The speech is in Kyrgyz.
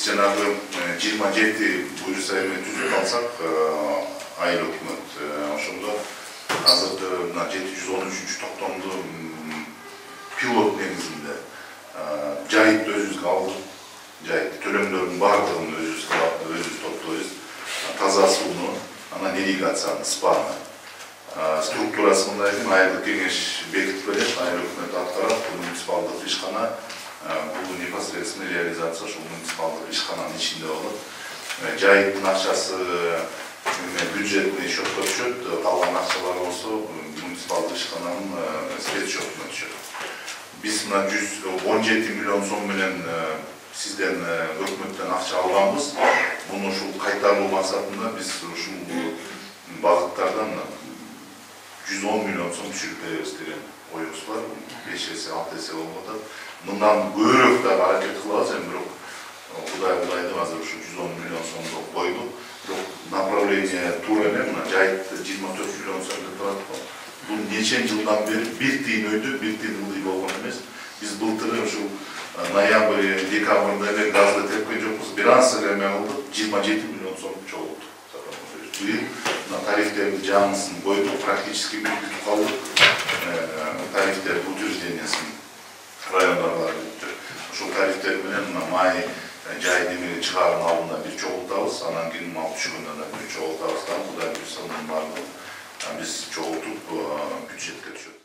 жанагы 27 буюрса эме түзүп алсак, айыл өкмөт ошондо азыркы 713 токтомду пилот негизинде жайытты өзүбүзгө алдык. Жайыт төлөмдөрдүн баардыгын өзүбүз топтойбуз. Таза сууну, анан ирригацияны, спаны. Структурасы мындай экен, айылдык кеңеш бекитип берет, айыл өкмөт аткарат, муниципалдык ишкана бул непосредственно реализация ошол муниципалдык ишкананын ичинде болот. Жайыттын акчасы бюджетный счетко түшөт, калган акчалар болсо муниципалдык ишкананын спецсчетуна түшөт. Биз мына 117 миллион сом менен сизден өкмөттөн акча алганбыз. Муну ушул кайтаруу максатында биз ушул багыттардан 110 миллион сом түшүрүп беребиз деген оюбуз бар. 5 эсе, 6 эсе болуп атат. Мындан көбүрөөк да аракет кылабыз, эми бирок Кудай деп азыр ушу 110 миллион сомду койдук. Бирок направление туура эле, мына жайытты 24 миллион сом деп турат го. Бул нече жылдан бери бир тиын өйдө, бир тиын ылдый болгон эмес. Биз былтыр ушул ноябрь, декабрда эле газды тепкен жокпуз. Бир аз эле эме кылдык, 27 миллион сом чогулттук. Быйыл тарифтердин жаңысын койдук, практически бүтүп калдык. Тарифтер утверждениясын райондорго бүттү. Ушул тарифтер менен май жай демеги чыгаардын алдында бир чогултабыз, анан кийин мал түшкөндөн да бир чогултабыз. Кудай буйрса мунун баардыгын биз чогултуп бюджетке түшөт.